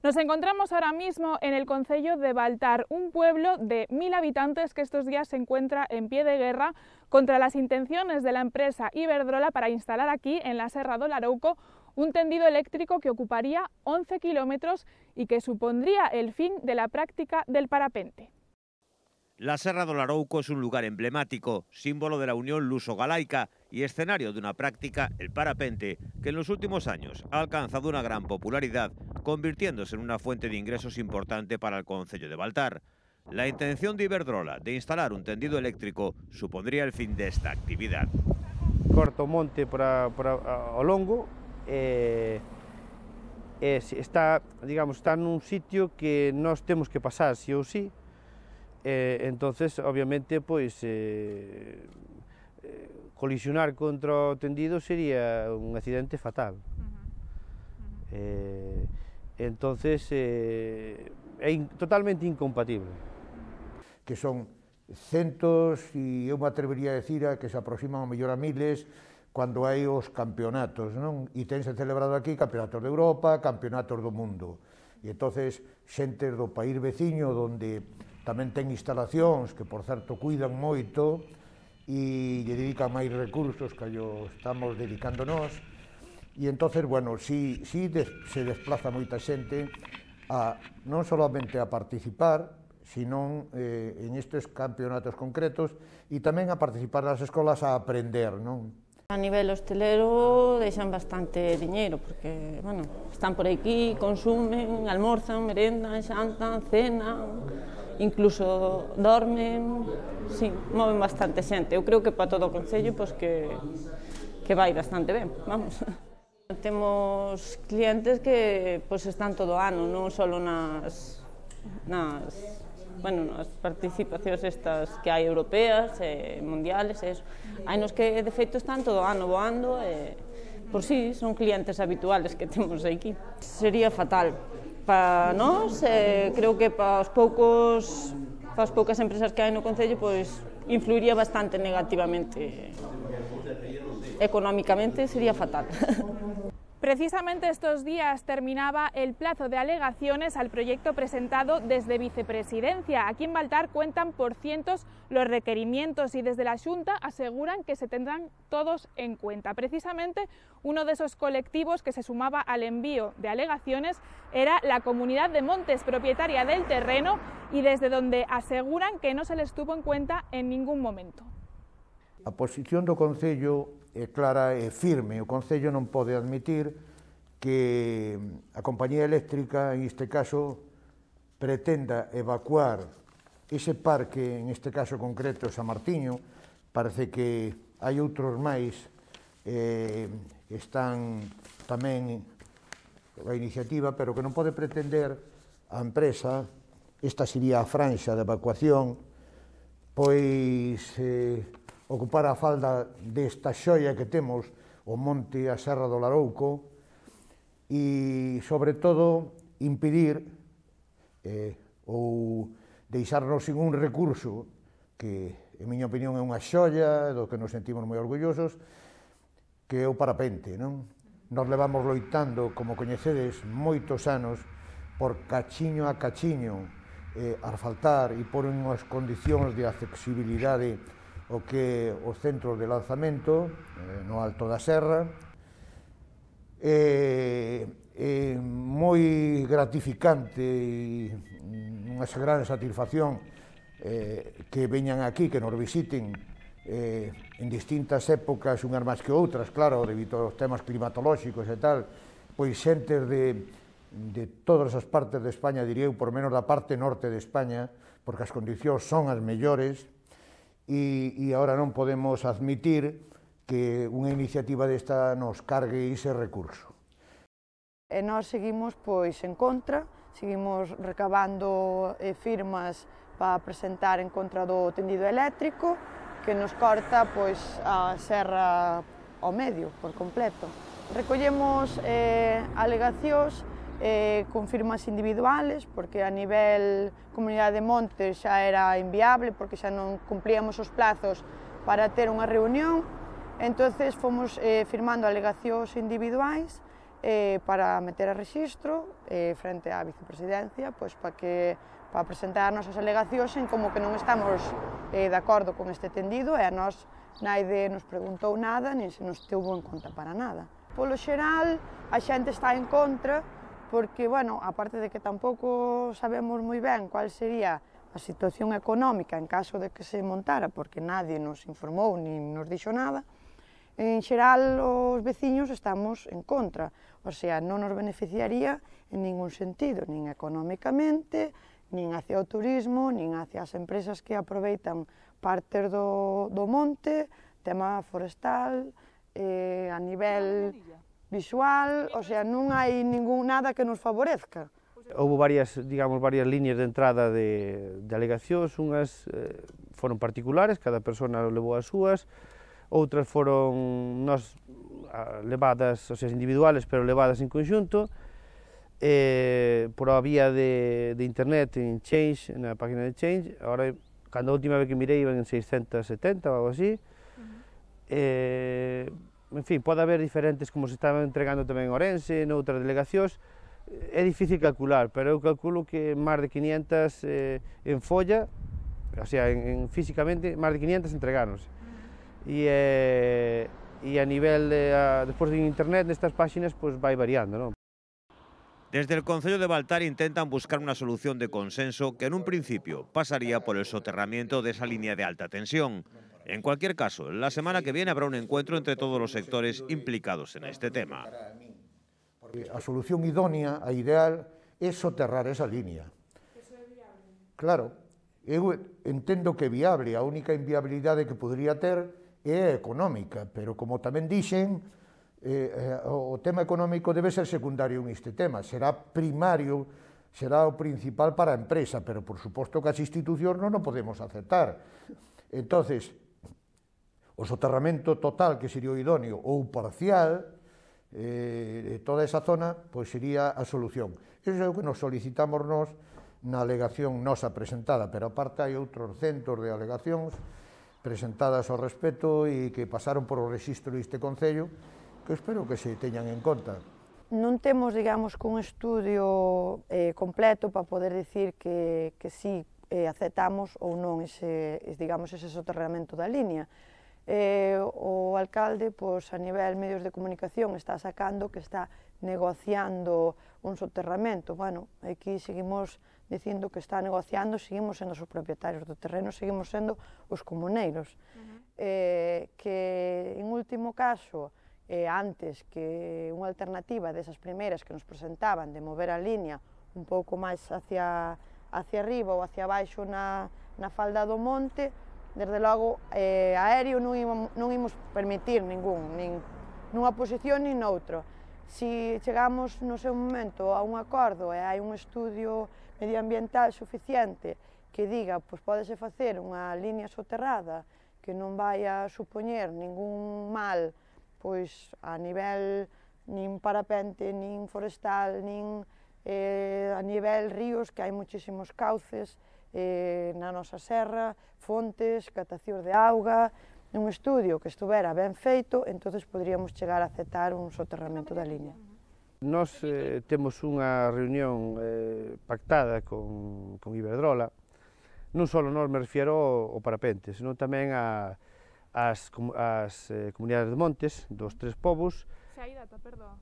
Nos encontramos ahora mismo en el concello de Baltar, un pueblo de 1000 habitantes que estos días se encuentra en pie de guerra contra las intenciones de la empresa Iberdrola para instalar aquí, en la Serra do Larouco, un tendido eléctrico que ocuparía 11 kilómetros y que supondría el fin de la práctica del parapente. La Serra do Larouco es un lugar emblemático, símbolo de la unión luso-galaica y escenario de una práctica, el parapente, que en los últimos años ha alcanzado una gran popularidad, convirtiéndose en una fuente de ingresos importante para el concello de Baltar. La intención de Iberdrola de instalar un tendido eléctrico supondría el fin de esta actividad. Corta o monte ao longo, está nun sitio que nós temos que pasar sí ou sí. Entonces, obviamente, pois colisionar contra o tendido sería un accidente fatal. Entonces, é totalmente incompatible. Que son centos, e eu me atrevería a decir que se aproximan ao mellor a miles, cando hai os campeonatos, non? E tense celebrado aquí campeonatos de Europa, campeonatos do mundo. E entonces, xentes do país veciño, onde tamén ten instalacións que, por certo, cuidan moito e lle dedican máis recursos que yo estamos dedicando nós. E entonces, bueno, si se desplaza moita xente non solamente a participar, sino en estes campeonatos concretos e tamén a participar nas escolas a aprender, non? A nivel hostelero deixan bastante diñeiro, porque, bueno, están por aquí, consumen, almorzan, merendan, xantan, cenan, incluso dormen, sí, moven bastante xente. Eu creo que para todo o concello, pois que vai bastante ben, vamos. Temos clientes que pois están todo o ano, non só nas participacións estas que hai europeas, mundiales, hai nos que de feito están todo o ano voando, por si son clientes habituales que temos aquí. Sería fatal para nós, creo que para as poucas empresas que hai no concello, pois influiría bastante negativamente. Económicamente sería fatal. Precisamente estos días terminaba el plazo de alegaciones al proyecto presentado desde Vicepresidencia. Aquí en Baltar cuentan por cientos los requerimientos y desde la Xunta aseguran que se tendrán todos en cuenta. Precisamente uno de esos colectivos que se sumaba al envío de alegaciones era la Comunidad de Montes, propietaria del terreno, y desde donde aseguran que no se les tuvo en cuenta en ningún momento. A posición do Concello é clara e firme. O Concello non pode admitir que a compañía eléctrica, en este caso, pretenda evacuar ese parque, en este caso concreto San Martiño. Parece que hai outros máis, están tamén a iniciativa, pero que non pode pretender a empresa, esta sería a franxa de evacuación, pois ocupar a falda desta xoia que temos, o monte, a Serra do Larouco, e, sobre todo, impedir ou deixarnos sin un recurso que, en miña opinión, é unha xoia, do que nos sentimos moi orgullosos, que é o parapente, non? Nos levamos loitando, como coñecedes, moitos anos, por cachiño a cachiño, asfaltar e por unhas condicións de accesibilidade o que os centros de lanzamento no alto da serra. É moi gratificante e unha gran satisfacción que veñan aquí, que nos visiten en distintas épocas, unhas máis que outras, claro, debido aos temas climatolóxicos e tal, pois xentes de todas as partes de España, diría eu, por menos da parte norte de España, porque as condicións son as mellores, e agora non podemos admitir que unha iniciativa desta nos cargue ese recurso. E nós seguimos pois en contra, seguimos recabando firmas para presentar en contra do tendido eléctrico que nos corta pois a serra ao medio por completo. Recollemos alegacións con firmas individuales, porque a nivel Comunidade de Montes xa era inviable, porque xa non cumplíamos os plazos para ter unha reunión. Entonces fomos firmando alegacións individuais para meter a rexistro frente á vicepresidencia, pois para presentar as nosas alegacións en como que non estamos de acordo con este tendido e a nós naide nos preguntou nada, nin se nos teuvo en conta para nada. Polo xeral, a xente está en contra, porque, bueno, aparte de que tampouco sabemos moi ben cual sería a situación económica en caso de que se montara, porque nadie nos informou nin nos dixo nada, en xeral os veciños estamos en contra, o sea, non nos beneficiaría en ningún sentido, nin económicamente, nin hacia o turismo, nin hacia as empresas que aproveitan partes do monte, tema forestal, a nivel visual, o sea, non hai nada que nos favorezca. Houve varias líneas de entrada de alegacións, unhas foron particulares, cada persona levou as súas, outras foron levadas, o sea, individuales, pero levadas en conxunto, por a vía de internet, en Change, na página de Change. Agora, cando a última vez que mirei, iban en 670 ou algo así. En fin, pode haber diferentes, como se estaban entregando tamén en Ourense, noutras delegacións. É difícil calcular, pero eu calculo que máis de 500 en folla, o sea, físicamente, máis de 500 entregáronse. E a nivel, despois de internet, nestas páxinas, pois vai variando, non? Desde el Concello de Baltar intentan buscar una solución de consenso que en un principio pasaría por el soterramiento de esa línea de alta tensión. En cualquier caso, la semana que viene habrá un encuentro entre todos los sectores implicados en este tema. A solución idónea, a ideal, é soterrar esa línea. Eso é viable? Claro, eu entendo que é viable, a única inviabilidade que podría ter é económica, pero como tamén dixen, o tema económico debe ser secundario en este tema, será primario, será o principal para a empresa, pero por suposto que as institucións non o podemos aceptar. Entonces, o soterramento total, que sería o idóneo, ou parcial, toda esa zona, pois sería a solución. Iso é o que nos solicitamos nós na alegación nosa presentada, pero aparte hai outros centos de alegacións presentadas ao respecto e que pasaron por o rexistro deste Concello, que espero que se teñan en conta. Non temos, digamos, un estudio completo para poder dicir que sí aceptamos ou non ese soterramento da línea. O alcalde, pois, a nivel medios de comunicación, está sacando que está negociando un soterramento. Bueno, aquí seguimos dicindo que está negociando, seguimos sendo os propietarios do terreno, seguimos sendo os comuneiros. Que, en último caso, antes que unha alternativa desas primeiras que nos presentaban de mover a línea un pouco máis hacia arriba ou hacia baixo na falda do monte, desde logo aéreo non imos permitir ningún, nin nunha posición nin noutra. Si chegamos no seu momento a un acordo e hai un estudio medioambiental suficiente que diga, pois pódese facer unha línea soterrada que non vai a supoñer ningún mal, pois a nivel nin parapente, nin forestal, nin a nivel ríos, que hai muchísimos cauces na nosa serra, fontes, captacións de auga, un estudio que estuvera ben feito, entonces poderíamos chegar a aceptar un soterramento da línea. Nós temos unha reunión pactada con Iberdrola, non só nós, me refiero ao parapente, senón tamén as comunidades de montes dos tres povos. Se hai data, perdón.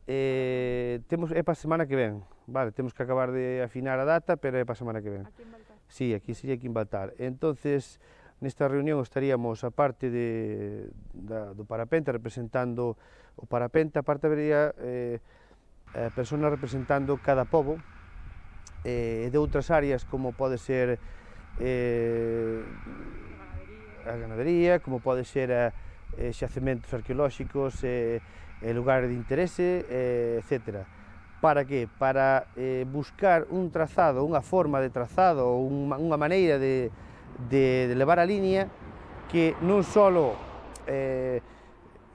É para a semana que ven, vale, temos que acabar de afinar a data, pero é para a semana que ven. Aquí en Baltar. Sí, aquí sería aquí en Baltar. Entonces, nesta reunión estaríamos, a parte do parapente, representando o parapente, a parte habería personas representando cada pobo, de outras áreas, como pode ser a ganadería, como pode ser xacementos arqueolóxicos, lugares de interese, etc. Para que? Para buscar un trazado, unha forma de trazado, ou unha maneira de levar a línea que non só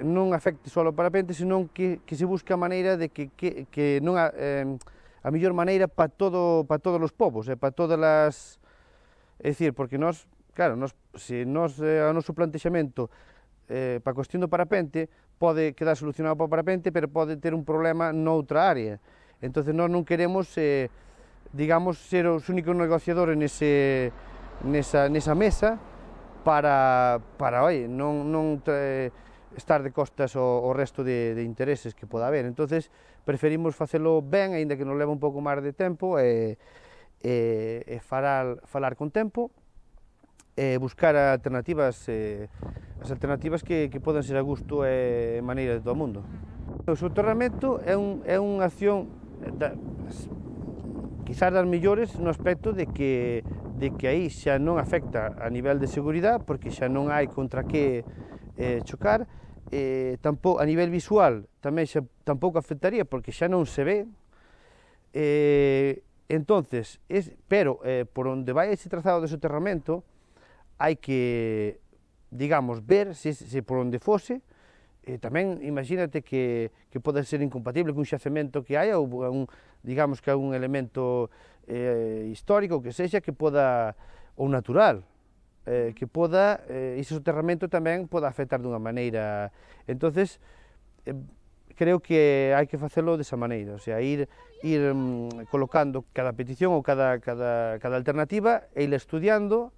non afecte só o parapente, senón que se busque a maneira de que non a mellor maneira para todos os povos, para todas as... É dicir, porque nós, claro, se o noso plantexamento para a cuestión do parapente pode quedar solucionado para o parapente, pero pode ter un problema noutra área. Entonces nós non queremos, digamos, ser os únicos negociadores nesa mesa para non estar de costas ao resto de intereses que poda haber. Entonces preferimos facelo ben, aínda que nos leva un pouco máis de tempo, e falar con tempo, buscar alternativas, as alternativas que poden ser a gusto e maneira de todo o mundo. O soterramento é unha acción quizás das mellores no aspecto de que aí xa non afecta a nivel de seguridade, porque xa non hai contra que chocar, tampouco, a nivel visual tamén xa tampouco afectaría porque xa non se ve, entonces, pero por onde vai ese trazado de soterramento hai que, digamos, ver se por onde fose, tamén imagínate que pode ser incompatible cun xacemento que hai, ou digamos que é un elemento histórico, que sexa, que poda, ou natural, que poda, ese soterramento tamén poda afectar dunha maneira. Entonces, creo que hai que facelo desa maneira, o sea, ir colocando cada petición ou cada alternativa e ir estudiando